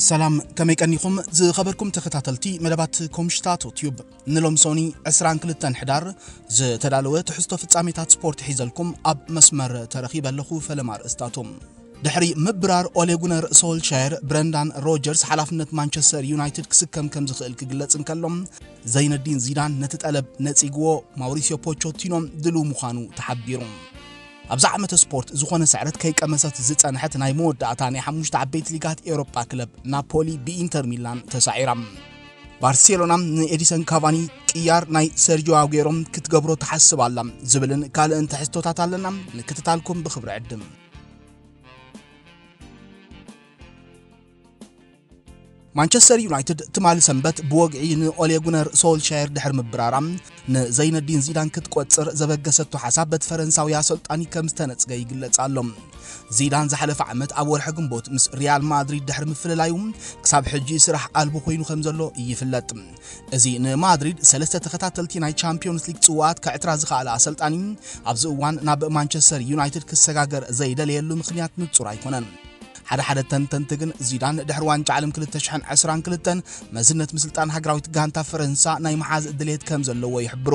ሰላም፣ ከመይ ቀኒኹም ዝኸበርኩም ተኸታተልቲ መደባት ኮምሽታቶ ቲዩብ? ንሎም ሶኒ ዕስራን ክልተን ሕዳር ዝተዳለወ ትሕዝቶ ፍጻሜታት ስፖርት ሒዘልኩም ኣብ መስመር ተረኺበ ኣለኹ። ፈለማ ኣርእስታቶም። ድሕሪ ምብራር ኦሌ ጉነር ሶልሻየር፣ ብረንዳን ሮጀርስ ሓላፍነት ማንቸስተር ዩናይትድ ክስከም ከም ዝኽእል ክግለጽ እንከሎ፣ ዘይነዲን ዚዳን ነቲ ጠለብ ነጺግዎ፣ ማውሪሲዮ ፖቾቲኖ ድሉው ምዃኑ ተሓቢሩ። ኣብዛ ዓመተ ስፖርት ዝኾነ ስዕረት ከይቀመሰት ዝጸንሐት ናይ መወዳእታ ናይ ሓሙሽተ ዓበይቲ ሊጋት ኤውሮጳ ክለብ ናፖሊ ብኢንተር ሚላን ተሳዒራ። ባርሴሎና ንኤዲሰን ካቫኒ ቅያር ናይ ሰርጂዮ ኣጉዌሮ ክትገብሮ ትሓስብ ኣላ ዝብልን ካልእን ትሕዝቶታት ኣለና። ምክትታልኩም ብኽብሪ ዕድም። ማንቸስተር ዩናይትድ ትማሊ ሰንበት ብወግዒ ንኦሌ ጉነር ሶልሻየር ድሕሪ ምብራራ፣ ንዘይነዲን ዚዳን ክትቆጽር ዘበገሰቶ ሓሳብ በቲ ፈረንሳዊ ኣሰልጣኒ ከም ዝተነጽገ ይግለጽ ኣሎ። ዚዳን ዝሓለፈ ዓመት ኣብ ወርሒ ግንቦት ምስ ሪያል ማድሪድ ድሕሪ ምፍልላዩ፣ ክሳብ ሕጂ ስራሕ ኣልቦ ኮይኑ ከም ዘሎ ይፍለጥ። እዚ ንማድሪድ ሰለስተ ተኸታተልቲ ናይ ቻምፒዮንስ ሊግ ጽዋኣት ከዕትራ ዝኸኣለ ኣሰልጣኒ፣ ኣብዚ እዋን ናብ ማንቸስተር ዩናይትድ ክሰጋገር ዘይደለየሉ ምኽንያት ንጹር ኣይኮነን። ሓደ ሓደ ተንተንቲ ግን፣ ዚዳን ድሕሪ ዋንጫ ዓለም ክልተ ሽሕን ዕስራን ክልተን መዝነት ምስልጣን ሃገራዊት ጋንታ ፈረንሳ ናይ መሓዝ ድሌት ከም ዘለዎ ይሕብሩ።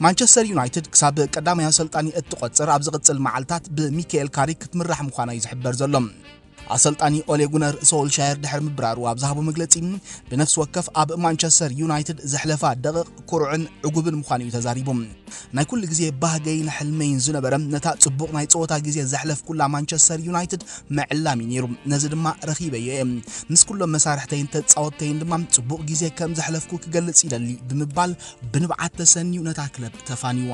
ማንቸስተር ዩናይትድ ክሳብ ቀዳማይ ኣሰልጣኒ እትቆጽር ኣብ ዝቕጽል መዓልታት ብሚካኤል ካሪክ ክትምራሕ ምዃና እዩ ዝሕበር ዘሎ። ኣሰልጣኒ ኦሌ ጉነር ሶልሻየር ድሕሪ ምብራሩ ኣብ ዝሃቦ መግለጺ፣ ብነፍሲ ወከፍ ኣብ ማንቸስተር ዩናይትድ ዘሕለፋ ደቂቕ ኩሩዕን ዕጉብን ምዃኑ እዩ ተዛሪቡ። ናይ ኩሉ ግዜ ባህገይን ሕልመይን ዝነበረ፣ ነታ ጽቡቕ ናይ ጸወታ ግዜ ዘሕለፍኩላ ማንቸስተር ዩናይትድ ምዕላም እዩ ነይሩ። ነዚ ድማ ረኺበዮ እየ። ምስ ኩሎም መሳርሕተይን ተጻወትተይን ድማ ጽቡቕ ግዜ ከም ዘሕለፍኩ ክገልጽ ይደሊ ብምባል ብንብዓት ተሰንዩ ነታ ክለብ ተፋንይዋ።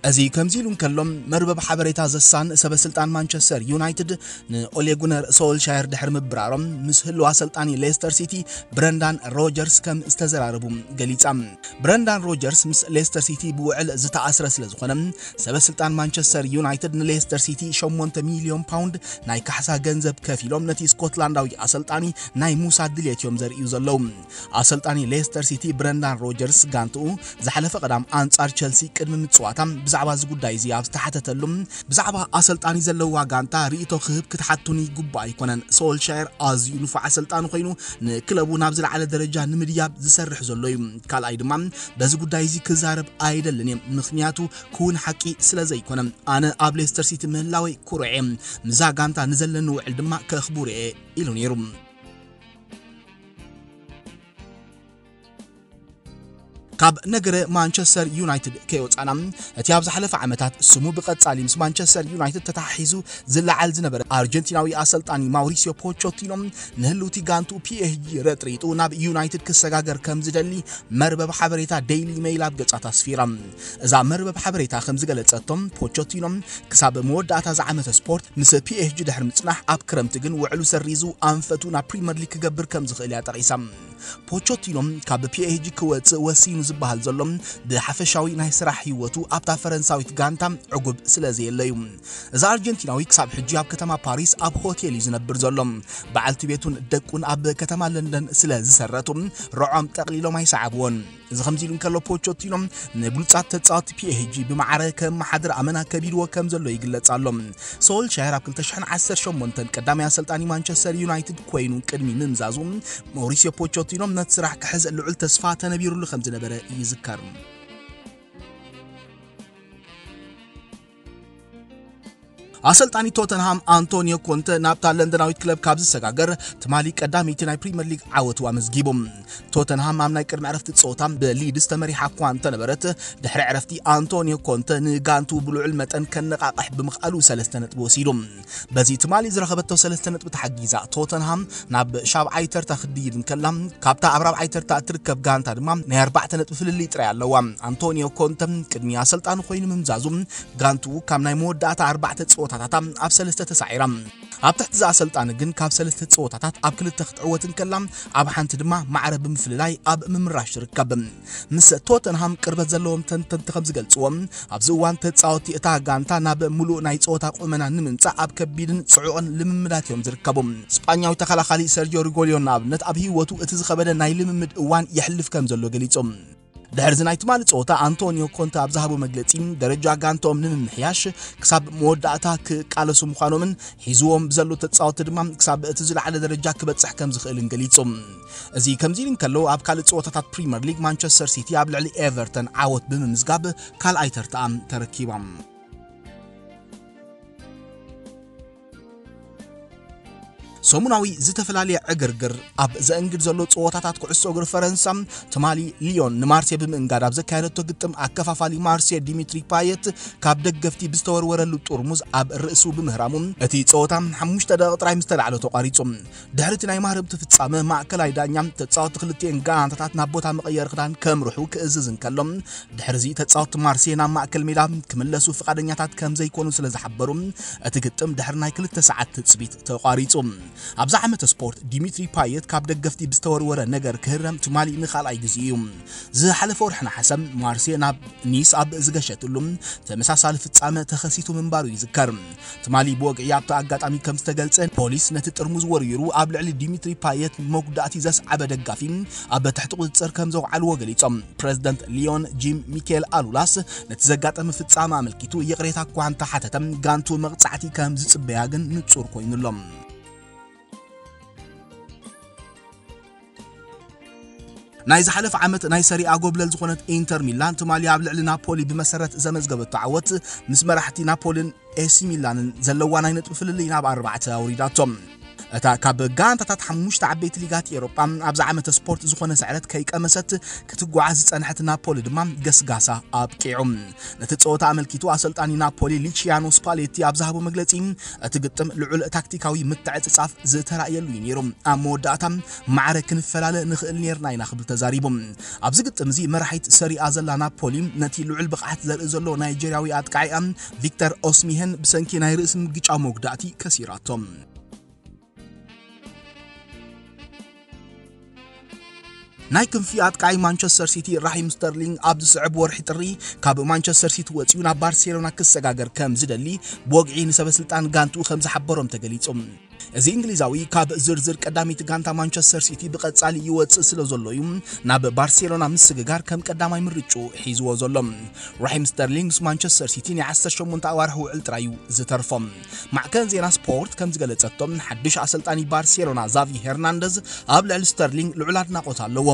እዚ ከምዚ ኢሉ እንከሎ፣ መርበብ ሓበሬታ ዘሳን ሰበ ስልጣን ማንቸስተር ዩናይትድ ንኦሌ ጉነር ሶልሻየር ድሕሪ ምብራሮም፣ ምስ ህልው ኣሰልጣኒ ሌስተር ሲቲ ብረንዳን ሮጀርስ ከም ዝተዘራረቡ ገሊጻ። ብረንዳን ሮጀርስ ምስ ሌስተር ሲቲ ብውዕል ዝተኣስረ ስለ ዝኾነ፣ ሰበ ስልጣን ማንቸስተር ዩናይትድ ንሌስተር ሲቲ ሸሞንተ ሚልዮን ፓውንድ ናይ ካሕሳ ገንዘብ ከፊሎም ነቲ ስኮትላንዳዊ ኣሰልጣኒ ናይ ምውሳድ ድልየት እዮም ዘርእዩ ዘለዉ። ኣሰልጣኒ ሌስተር ሲቲ ብረንዳን ሮጀርስ ጋንትኡ ዝሓለፈ ቀዳም ኣንጻር ቸልሲ ቅድሚ ምጽዋታ ብዛዕባ እዚ ጉዳይ እዚ ኣብ ዝተሓተተሉ፣ ብዛዕባ ኣሰልጣኒ ዘለዋ ጋንታ ርእይቶ ክህብ ክትሓቱኒ ይግባእ ኣይኮነን። ሶልሻየር ኣዝዩ ንፉዕ ኣሰልጣኒ ኮይኑ፣ ንክለቡ ናብ ዝለዓለ ደረጃ ንምድያብ ዝሰርሕ ዘሎ እዩ። ካልኣይ ድማ፣ በዚ ጉዳይ እዚ ክዛረብ ኣይደልን እየ፣ ምኽንያቱ ክውን ሓቂ ስለ ዘይኮነ። ኣነ ኣብ ሌስተር ሲቲ ምህላወይ ኩሩዕ እየ። ምስዛ ጋንታ ንዘለኒ ውዕል ድማ ከኽቡር እየ፣ ኢሉ ነይሩ። ካብ ነገረ ማንቸስተር ዩናይትድ ከይወጻና፣ እቲ ኣብ ዝሓለፈ ዓመታት ስሙ ብቐጻሊ ምስ ማንቸስተር ዩናይትድ ተተሓሒዙ ዝለዓል ዝነበረ ኣርጀንቲናዊ ኣሰልጣኒ ማውሪሲዮ ፖቾቲኖ፣ ንህልውቲ ጋንቱ ፒኤስጂ ረጥሪጡ ናብ ዩናይትድ ክሰጋገር ከም ዝደሊ መርበብ ሓበሬታ ዴይሊ ሜይል ኣብ ገጻት ኣስፊራ። እዛ መርበብ ሓበሬታ ከም ዝገለጸቶም፣ ፖቾቲኖ ክሳብ መወዳእታ ዝዓመተ ስፖርት ምስ ፒኤስጂ ድሕሪ ምጽናሕ፣ ኣብ ክረምቲ ግን ውዕሉ ሰሪዙ ኣንፈቱ ናብ ፕሪምየር ሊግ ክገብር ከም ዝኽእል እያ ጠቒሳ። ፖቾቲኖ ካብ ፒኤስጂ ክወጽእ ወሲኑ ዝበሃል ዘሎ፣ ብሓፈሻዊ ናይ ስራሕ ህይወቱ ኣብታ ፈረንሳዊት ጋንታ ዕጉብ ስለ ዘየለዩ። እዚ ኣርጀንቲናዊ ክሳብ ሕጂ ኣብ ከተማ ፓሪስ ኣብ ሆቴል እዩ ዝነብር ዘሎ። በዓልቲ ቤቱን ደቁን ኣብ ከተማ ለንደን ስለ ዝሰረቱ፣ ርዖም ጠቕሊሎም ኣይሰዓብዎን። እዚ ከምዚ ኢሉ እንከሎ፣ ፖቾቲኖ ንብሉጻት ተጻወትቲ ፒኤስጂ ብማዕረ ከመሓድር ኣመና ከቢድዎ ከም ዘሎ ይግለጽ ኣሎ። ሶልሻየር ኣብ ክልተ ሽሕን ዓሰርተ ሸሞንተን ቀዳማይ ኣሰልጣኒ ማንቸስተር ዩናይትድ ኮይኑ ቅድሚ ምምዛዙ፣ ማውሪሲዮ ፖቾቲኖ ነቲ ስራሕ ክሕዝ ልዑል ተስፋ ተነቢሩሉ ከም ዝነበረ ይዝከር። ኣሰልጣኒ ቶተንሃም ኣንቶኒዮ ኮንተ ናብታ ለንደናዊት ክለብ ካብ ዝሰጋገር፣ ትማሊ ቀዳመይቲ ናይ ፕሪምየር ሊግ ዓወቱ ኣመዝጊቡ። ቶተንሃም ኣብ ናይ ቅድሚ ዕረፍቲ ጸወታ ብሊድስ ተመሪሓ እኳ እንተነበረት፣ ድሕሪ ዕረፍቲ ኣንቶኒዮ ኮንተ ንጋንቱ ብልዑል መጠን ከነቓቕሕ ብምኽኣሉ ሰለስተ ነጥቢ ወሲዱ። በዚ ትማሊ ዝረኸበቶ ሰለስተ ነጥቢ ተሓጊዛ፣ ቶተንሃም ናብ ሻብዓይ ተርታ ክድይብ እንከላ፣ ካብታ ኣብ ራብዓይ ተርታ እትርከብ ጋንታ ድማ ናይ ኣርባዕተ ነጥቢ ፍልልይ ጥራይ ኣለዋ። ኣንቶኒዮ ኮንተ ቅድሚ ኣሰልጣኒ ኮይኑ ምምዛዙ፣ ጋንቱ ካብ ናይ መወዳእታ ኣርባዕተ ጸወታታታ ኣብ ሰለስተ ተሳዒራ። ኣብ ትሕቲ ዝኣ ሰልጣን ግን ካብ ሰለስተ ጸወታታት ኣብ ክልተ ክትዕወት እንከላ፣ ኣብ ሓንቲ ድማ ማዕረ ብምፍልላይ ኣብ ምምራሽ ትርከብ። ምስ ቶተንሃም ቅርበት ዘለዎም ተንተንቲ ከም ዝገልጽዎ፣ ኣብዚ እዋን ተጻወቲ እታ ጋንታ ናብ ምሉእ ናይ ጸወታ ቁመና ንምምጻእ ኣብ ከቢድን ጽዑቕን ልምምዳት እዮም ዝርከቡ። ስጳኛዊ ተኸላኻሊ ሰርጂዮ ሪጎልዮ ንኣብነት ኣብ ህይወቱ እቲ ዝኸበደ ናይ ልምምድ እዋን የሕልፍ ከም ዘሎ ገሊጹ። ድሕሪ እዚ ናይ ትማሊ ጸወታ ኣንቶኒዮ ኮንተ ኣብ ዝሃቦ መግለጺ፣ ደረጃ ጋንታኦም ንምምሕያሽ ክሳብ መወዳእታ ክቃለሱ ምዃኖምን ሒዝዎም ብዘሎ ተጻወቲ ድማ ክሳብ እቲ ዝለዓለ ደረጃ ክበጽሕ ከም ዝኽእልን ገሊጹ። እዚ ከምዚ ኢሉ እንከሎ፣ ኣብ ካልእ ጸወታታት ፕሪምየር ሊግ ማንቸስተር ሲቲ ኣብ ልዕሊ ኤቨርተን ዓወት ብምምዝጋብ ካልኣይ ተርታኣ ተረኪባ። ሰሙናዊ ዝተፈላለየ ዕግርግር ኣብ ዘእንግድ ዘሎ ጸወታታት ኩዕሶ እግሪ ፈረንሳ፣ ትማሊ ሊዮን ንማርሴ ብምእንጋድ ኣብ ዘካየደቶ ግጥም፣ ኣከፋፋሊ ማርሴ ዲሚትሪ ፓየት ካብ ደገፍቲ ብዝተወርወረሉ ጥርሙዝ ኣብ ርእሱ ብምህራሙ፣ እቲ ጸወታ ሓሙሽተ ደቂቕ ጥራይ ምስ ተላዕሎ ተቋሪጹ። ድሕሪ እቲ ናይ ማህረምቲ ፍጻመ፣ ማእከላይ ዳኛ ተጻወትቲ ክልቲኤን ጋንታታት ናብ ቦታ መቐየሪ ክዳን ከምርሑ ክእዝዝ እንከሎ፣ ድሕሪ እዚ ተጻወትቲ ማርሴ ናብ ማእከል ሜዳ ክምለሱ ፍቓደኛታት ከም ዘይኮኑ ስለ ዝሓበሩ፣ እቲ ግጥም ድሕሪ ናይ ክልተ ሰዓት ትጽቢት ተቋሪጹ። ኣብዚ ዓመተ ስፖርት፣ ዲሚትሪ ፓየት ካብ ደገፍቲ ብዝተወርወረ ነገር ክህረም ትማሊ ንኻልኣይ ግዜ እዩ። ዝሓለፈ ወርሒ ነሓሰ፣ ማርሴ ናብ ኒስ ኣብ ዝገሸትሉ ተመሳሳሊ ፍጻመ ተኸሲቱ ምንባሩ ይዝከር። ትማሊ ብወግዒ ኣብቲ ኣጋጣሚ ከም ዝተገልጸ፣ ፖሊስ ነቲ ጥርሙዝ ወርዊሩ ኣብ ልዕሊ ዲሚትሪ ፓየት መጉዳእቲ ዘስዓበ ደጋፊ ኣብ ትሕቲ ቁጽጽር ከም ዘውዓልዎ ገሊጾም። ፕረዚደንት ሊዮን ጂም ሚካኤል ኣሉላስ ነቲ ዘጋጠመ ፍጻመ ኣመልኪቱ ይቕሬታ እኳ እንተሓተተ፣ ጋንቱ መቕጻዕቲ ከም ዝጽበያ ግን ንጹር ኮይኑ ኣሎ። ናይ ዝሓለፈ ዓመት ናይ ሰሪኣ ጎብለል ዝኾነት ኢንተር ሚላን ትማሊ ኣብ ልዕሊ ናፖሊ ብመሰረት ዘመዝገበቶ ዓወት ምስ መራሕቲ ናፖልን ኤሲ ሚላንን ዘለዋ ናይ ነጥቢ ፍልልይ ናብ ኣርባዕተ ኣውሪዳቶ። እታ ካብ ጋንታታት ሓሙሽተ ዓበይቲ ሊጋት ኤውሮጳ ኣብዚ ዓመተ ስፖርት ዝኾነ ስዕረት ከይቀመሰት ክትጓዓዝ ዝጸንሐት ናፖሊ ድማ ገስጋሳ ኣብቂዑ። ነቲ ጸወታ ኣመልኪቱ ኣሰልጣኒ ናፖሊ ሊቺያኖ ስፓሌቲ ኣብ ዝሃቦ መግለጺ፣ እቲ ግጥም ልዑል ታክቲካዊ ምትዕጽጻፍ ዝተራእየሉ እዩ ነይሩ። ኣብ መወዳእታ ማዕረ ክንፈላለ ንኽእል ነይርና ኢና ክብል ተዛሪቡ። ኣብዚ ግጥም እዚ መራሒት ሰሪኣ ዘላ ናፖሊ ነቲ ልዑል ብቕዓት ዘርኢ ዘሎ ናይጀርያዊ ኣጥቃዒኣ ቪክተር ኦስሚሄን ብሰንኪ ናይ ርእሲ ምግጫው መጉዳእቲ ከሲራቶ። ናይ ክንፊ ኣጥቃዒ ማንቸስተር ሲቲ ራሂም ስተርሊንግ ኣብ ዝስዕብ ወርሒ ጥሪ ካብ ማንቸስተር ሲቲ ወጺኡ ናብ ባርሴሎና ክሰጋገር ከም ዝደሊ ብወግዒ ንሰበ ስልጣን ጋንትኡ ከም ዝሓበሮም ተገሊጹ። እዚ እንግሊዛዊ ካብ ዝርዝር ቀዳመይቲ ጋንታ ማንቸስተር ሲቲ ብቐጻሊ ይወጽእ ስለ ዘሎ እዩ ናብ ባርሴሎና ምስግጋር ከም ቀዳማይ ምርጭኡ ሒዝዎ ዘሎ። ራሂም ስተርሊንግ ምስ ማንቸስተር ሲቲ ናይ ዓሰርተ ሸሞንተ ኣዋርሕ ውዕል ጥራይ እዩ ዝተርፎ። ማዕከን ዜና ስፖርት ከም ዝገለጸቶ፣ ሓድሽ ኣሰልጣኒ ባርሴሎና ዛቪ ሄርናንደዝ ኣብ ልዕሊ ስተርሊንግ ልዑል ኣድናቖት ኣለዎ።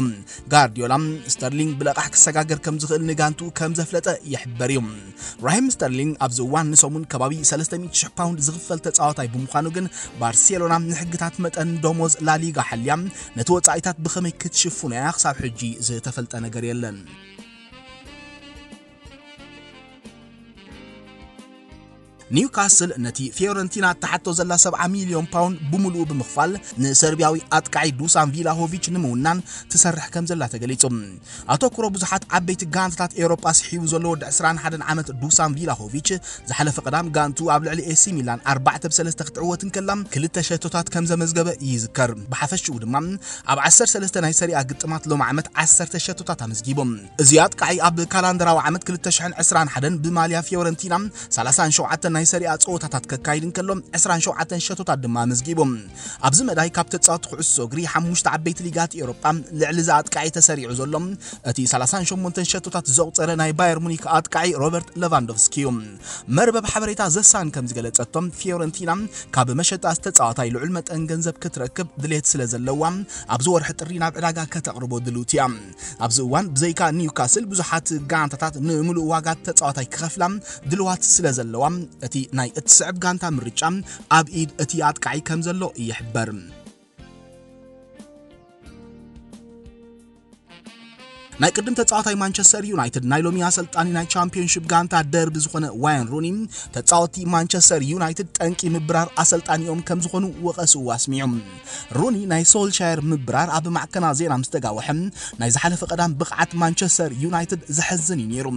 ጋርዲዮላ ስተርሊንግ ብለቓሕ ክሰጋገር ከም ዝኽእል ንጋንቱ ከም ዘፍለጠ ይሕበር እዩ። ራሂም ስተርሊንግ ኣብዚ እዋን ንሰሙን ከባቢ ሰለስተ ሚእቲ ሽሕ ፓውንድ ዝኽፈል ተጻዋታይ ብምዃኑ ግን፣ ባርሴሎና ንሕግታት መጠን ደሞዝ ላሊጋ ሓልያ ነቲ ወጻኢታት ብኸመይ ክትሽፍኖ እያ ክሳብ ሕጂ ዝተፈልጠ ነገር የለን። ኒውካስል ነቲ ፊዮረንቲና እትሓቶ ዘላ ሰብዓ ሚልዮን ፓውንድ ብምሉኡ ብምኽፋል ንሰርቢያዊ ኣጥቃዒ ዱሳን ቪላሆቪች ንምውናን ትሰርሕ ከም ዘላ ተገሊጹ። ኣተኩሮ ብዙሓት ዓበይቲ ጋንታታት ኤውሮጳ ስሒቡ ዘሎ ወዲ ዕስራን ሓደን ዓመት ዱሳን ቪላሆቪች ዝሓለፈ ቀዳም ጋንቱ ኣብ ልዕሊ ኤሲ ሚላን ኣርባዕተ ብ ሰለስተ ክትዕወት እንከላ ክልተ ሸቶታት ከም ዘመዝገበ ይዝከር። ብሓፈሽኡ ድማ ኣብ ዓሰርተ ሰለስተ ናይ ሰሪኣ ግጥማት ሎም ዓመት ዓሰርተ ሸቶታት ኣመዝጊቡ። እዚ ኣጥቃዒ ኣብ ካላንደራዊ ዓመት ክልተ ሽሕን ዕስራን ሓደን ብማልያ ፊዮረንቲና ሰላሳን ሸውዓተን ናይ ሰሪኣ ጸወታታት ከካይድ እንከሎ ዕስራን ሸውዓተን ሸቶታት ድማ ኣመዝጊቡ። ኣብዚ መዳይ ካብ ተጻወቲ ኩዕሶ እግሪ ሓሙሽተ ዓበይቲ ሊጋት ኤውሮጳ ልዕሊ እዚ ኣጥቃዒ ተሰሪዑ ዘሎ እቲ ሰላሳን ሸሞንተን ሸቶታት ዘቑጸረ ናይ ባየር ሙኒክ ኣጥቃዒ ሮበርት ሌቫንዶቭስኪ እዩ። መርበብ ሓበሬታ ዘሳን ከም ዝገለጸቶም፣ ፊዮረንቲና ካብ መሸጣ ዝተጻዋታይ ልዑል መጠን ገንዘብ ክትረክብ ድሌት ስለ ዘለዋ፣ ኣብዚ ወርሒ ጥሪ ናብ ዕዳጋ ከተቕርቦ ድልውቲ እያ። ኣብዚ እዋን ብዘይካ ኒውካስል ብዙሓት ጋንታታት ንምሉእ ዋጋ ተጻዋታይ ክኸፍላ ድልዋት ስለ ዘለዋ፣ እቲ ናይ እትስዕብ ጋንታ ምርጫ ኣብ ኢድ እቲ ኣጥቃዒ ከም ዘሎ ይሕበር። ናይ ቅድም ተጻዋታይ ማንቸስተር ዩናይትድ ናይ ሎሚ ኣሰልጣኒ ናይ ቻምፒዮንሺፕ ጋንታ ደርቢ ዝኾነ ዋይን ሩኒ፣ ተጻወቲ ማንቸስተር ዩናይትድ ጠንቂ ምብራር ኣሰልጣኒኦም ከም ዝኾኑ ወቐስኡ ኣስሚዑ። ሩኒ ናይ ሶልሻየር ምብራር ኣብ ማዕከና ዜና ምስ ተጋወሐ፣ ናይ ዝሓለፈ ቀዳም ብቕዓት ማንቸስተር ዩናይትድ ዘሕዝን እዩ ነይሩ።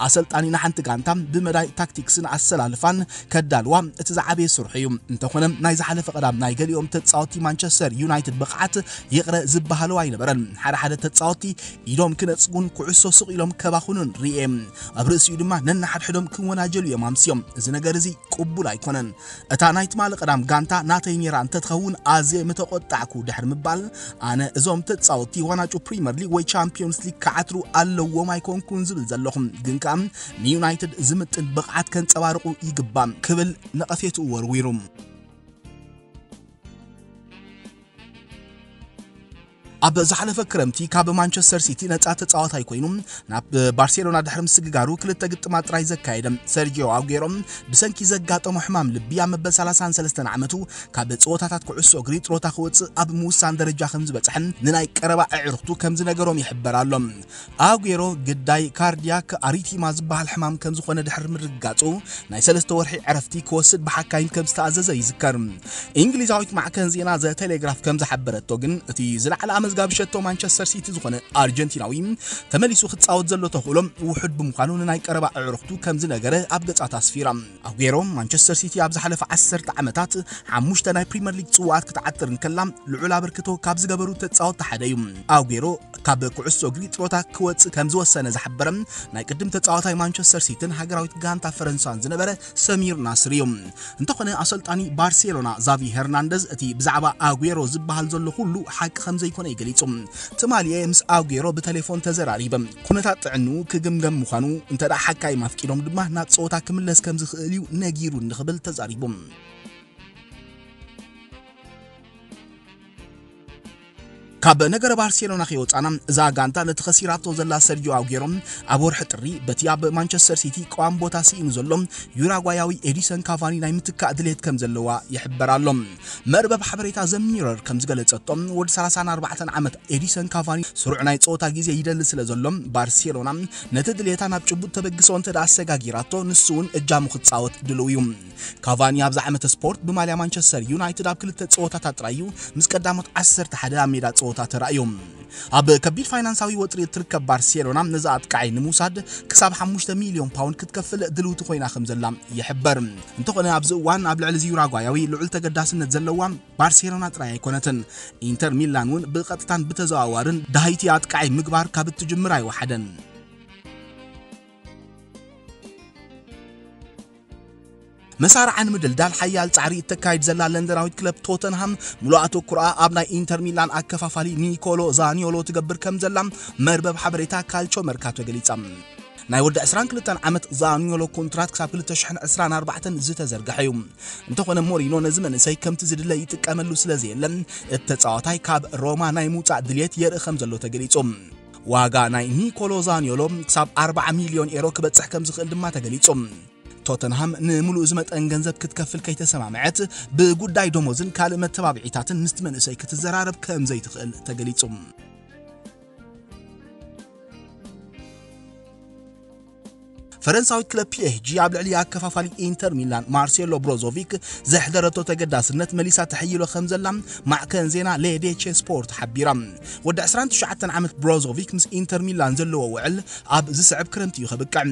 ኣሰልጣኒ ንሓንቲ ጋንታ ብመዳይ ታክቲክስን ኣሰላልፋን ከዳልዋ እቲ ዝዓበየ ስርሑ እዩ። እንተኾነ ናይ ዝሓለፈ ቀዳም ናይ ገሊኦም ተጻወቲ ማንቸስተር ዩናይትድ ብቕዓት ይቕረ ዝበሃሉ ኣይነበረን። ሓደ ሓደ ተጻወቲ ኢዶም ነጽጉን ኩዕሶ ስቕ ኢሎም ከባኹኑን ርኤ። ኣብ ርእሲኡ ድማ ነንሓድሕዶም ክወናጀሉ እዮም ኣምስዮም። እዚ ነገር እዚ ቅቡል ኣይኮነን። እታ ናይ ትማሊ ቀዳም ጋንታ ናተይ ነይራ እንተትኸውን ኣዝየ ምተቖጣዕኩ ድሕሪ ምባል፣ ኣነ እዞም ተጻወትቲ ዋናጩ ፕሪምየር ሊግ ወይ ቻምፒዮንስ ሊግ ክዓትሩ ኣለዎም ኣይኮንኩን ዝብል ዘለኹ። ግን ከኣ ንዩናይትድ ዝምጥን ብቕዓት ከንጸባርቑ ይግባእ ክብል ነቐፌትኡ ወርዊሩ። ኣብ ዝሓለፈ ክረምቲ ካብ ማንቸስተር ሲቲ ነጻ ተጻዋታይ ኮይኑ ናብ ባርሴሎና ድሕሪ ምስግጋሩ ክልተ ግጥማት ጥራይ ዘካየደ ሰርጂዮ ኣጉዌሮ ብሰንኪ ዘጋጠሞ ሕማም ልቢ ኣብ መበል ሰላሳን ሰለስተን ዓመቱ ካብ ጸወታታት ኩዕሶ እግሪ ጥሮታ ክወጽእ ኣብ ምውሳን ደረጃ ከም ዝበጽሐን ንናይ ቀረባ ኣዕሩኽቱ ከም ዝነገሮም ይሕበር ኣሎ። ኣጉዌሮ ግዳይ ካርዲያክ ኣሪቲማ ዝበሃል ሕማም ከም ዝኾነ ድሕሪ ምርግጋጹ ናይ ሰለስተ ወርሒ ዕረፍቲ ክወስድ ብሓካይም ከም ዝተኣዘዘ ይዝከር። እንግሊዛዊት ማዕከን ዜና ዘ ቴሌግራፍ ከም ዝሓበረቶ ግን እቲ ዝለዓለ ኣመዝጋቢ ሸቶ ማንቸስተር ሲቲ ዝኾነ ኣርጀንቲናዊ ተመሊሱ ክጻወት ዘሎ ተኽእሎ ውሑድ ብምዃኑ ንናይ ቀረባ ኣዕሩኽቱ ከም ዝነገረ ኣብ ገጻት ኣስፊራ። ኣጉዌሮ ማንቸስተር ሲቲ ኣብ ዝሓለፈ ዓሰርተ ዓመታት ሓሙሽተ ናይ ፕሪምየር ሊግ ጽዋኣት ክትዓጥር እንከላ ልዑል ኣበርክቶ ካብ ዝገበሩ ተጻወትቲ ሓደ እዩ። ኣጉዌሮ ካብ ኩዕሶ እግሪ ጥሮታ ክወጽእ ከም ዝወሰነ ዝሓበረ ናይ ቅድም ተጻዋታይ ማንቸስተር ሲቲን ሃገራዊት ጋንታ ፈረንሳን ዝነበረ ሰሚር ናስሪ እዩ። እንተኾነ ኣሰልጣኒ ባርሴሎና ዛቪ ሄርናንደዝ እቲ ብዛዕባ ኣጉዌሮ ዝበሃል ዘሎ ኩሉ ሓቂ ከም ዘይኮነ እዩ ገሊጹ። ትማሊ እየ ምስ ኣጉዌሮ ብቴሌፎን ተዘራሪበ። ኩነታት ጥዕንኡ ክግምገም ምዃኑ፣ እንተ ደኣ ሓካይም ኣፍቂዶም ድማ ናብ ጸወታ ክምለስ ከም ዝኽእል እዩ ነጊሩኒ ክብል ተዛሪቡ። ካብ ነገረ ባርሴሎና ከይወጻና፣ እዛ ጋንታ ነቲ ከሲራቶ ዘላ ሰርጂዮ ኣጉዌሮ ኣብ ወርሒ ጥሪ በቲ ኣብ ማንቸስተር ሲቲ ቀዋም ቦታ ስኢኑ ዘሎ ዩራጓያዊ ኤዲሰን ካቫኒ ናይ ምትካእ ድሌት ከም ዘለዋ ይሕበር ኣሎ። መርበብ ሓበሬታ ዘ ሚረር ከም ዝገለጸቶ፣ ወዲ ሰላሳን ኣርባዕተን ዓመት ኤዲሰን ካቫኒ ስሩዕ ናይ ጸወታ ግዜ ይደሊ ስለ ዘሎ፣ ባርሴሎና ነቲ ድሌታ ናብ ጭቡጥ ተበግሶ እንተ ደኣ ኣሰጋጊራቶ፣ ንሱ እውን እጃሙ ክጻወት ድልው እዩ። ካቫኒ ኣብዚ ዓመተ ስፖርት ብማልያ ማንቸስተር ዩናይትድ ኣብ ክልተ ጸወታታት ጥራይ እዩ ምስ ቀዳሞት ዓሰርተ ሓደ ኣብ ሜዳ ጸወታ ተራእዩ። ኣብ ከቢድ ፋይናንሳዊ ወጥሪ እትርከብ ባርሴሎና ነዚ ኣጥቃዓይ ንምውሳድ ክሳብ ሓሙሽተ ሚልዮን ፓውንድ ክትከፍል ድልውቲ ኮይና ከም ዘላ ይሕበር። እንተኾነ ኣብዚ እዋን ኣብ ልዕሊ እዚ ዩራጓያዊ ልዑል ተገዳስነት ዘለዋ ባርሴሎና ጥራይ ኣይኮነትን። ኢንተር ሚላን እውን ብቐጥታን ብተዘዋዋርን ዳሃይቲ ኣጥቃዓይ ምግባር ካብ እትጅምር ኣይወሓደን። መሳርዓ ንምድልዳል ሓያል ጻዕሪ እተካይድ ዘላ ለንደናዊት ክለብ ቶተንሃም ምሉእ ኣተኩሮኣ ኣብ ናይ ኢንተር ሚላን ኣከፋፋሊ ኒኮሎ ዛኒዮሎ ትገብር ከም ዘላ መርበብ ሓበሬታ ካልቾ መርካቶ ገሊጻ። ናይ ወዲ ዕስራን ክልተን ዓመት ዛኒዮሎ ኮንትራት ክሳብ ክልተ ሽሕን ዕስራን ኣርባዕተን ዝተዘርግሐ እዩ። እንተኾነ ሞሪኖ ነዚ መንእሰይ ከምቲ ዝድለ ይጥቀመሉ ስለ ዘየለ፣ እቲ ተጻዋታይ ካብ ሮማ ናይ ምውጻእ ድልየት የርኢ ከም ዘሎ ተገሊጹ። ዋጋ ናይ ኒኮሎ ዛኒዮሎ ክሳብ ኣርባዓ ሚልዮን ኤሮ ክበጽሕ ከም ዝኽእል ድማ ተገሊጹ። ቶተንሃም ንምሉእ እዚ መጠን ገንዘብ ክትከፍል ከይተሰማምዐት፣ ብጉዳይ ደሞዝን ካልእ መተባብዒታትን ምስቲ መንእሰይ ክትዘራረብ ከም ዘይትኽእል ተገሊጹ። ፈረንሳዊት ክለብ ፒ ኤስ ጂ ኣብ ልዕሊ ኣከፋፋሊ ኢንተር ሚላን ማርሴሎ ብሮዞቪክ ዘሕደረቶ ተገዳስነት መሊሳ ተሐይሎ ከም ዘላ ማዕከን ዜና ሌዴቼ ስፖርት ሓቢራ። ወዲ ዕስራን ትሽዓተን ዓመት ብሮዞቪክ ምስ ኢንተር ሚላን ዘለዎ ውዕል ኣብ ዝስዕብ ክረምቲ እዩ ከብቅዕ።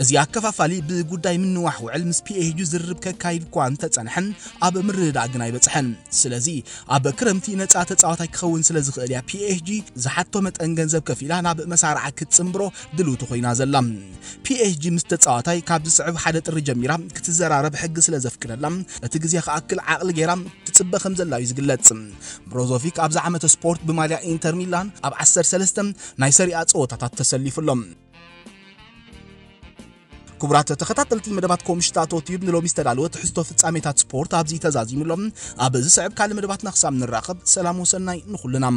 እዚ ኣከፋፋሊ ብጉዳይ ምንዋሕ ውዕል ምስ ፒ ኤስ ጂ ዝርርብ ከካይድ እኳ እንተጸንሐን፣ ኣብ ምርድዳእ ግን ኣይበጽሐን። ስለዚ ኣብ ክረምቲ ነጻ ተጻዋታይ ክኸውን ስለ ዝኽእል እያ ፒ ኤስ ጂ ዝሓቶ መጠን ገንዘብ ከፊላ ናብ መሳርዓ ክትጽንብሮ ድልውቲ ኮይና ዘላ። ፒ ኤስ ጂ ምስ ተጻዋታይ ካብ ዝስዕብ ሓደ ጥሪ ጀሚራ ክትዘራረብ ሕጊ ስለ ዘፍቅደላ፣ እቲ ግዜ ክኣክል ዓቕሊ ገይራ ትጽበ ከም ዘላ እዩ ዝግለጽ። ብሮዞቪክ ኣብዚ ዓመተ ስፖርት ብማልያ ኢንተር ሚላን ኣብ ዓሰርተ ሰለስተ ናይ ሰሪኣ ጸወታታት ተሰሊፉ ኣሎ። ክቡራት ተኸታተልቲ መደባት ኮምሽታቶ ቲዩብ፣ ንሎሚ ዝተዳለወ ትሕዝቶ ፍጻሜታት ስፖርት ኣብዚ ተዛዚሙ ኣሎ። ኣብ ዝስዕብ ካልእ መደባትና ክሳብ ንራኸብ፣ ሰላም ወሰናይ ንኹልና።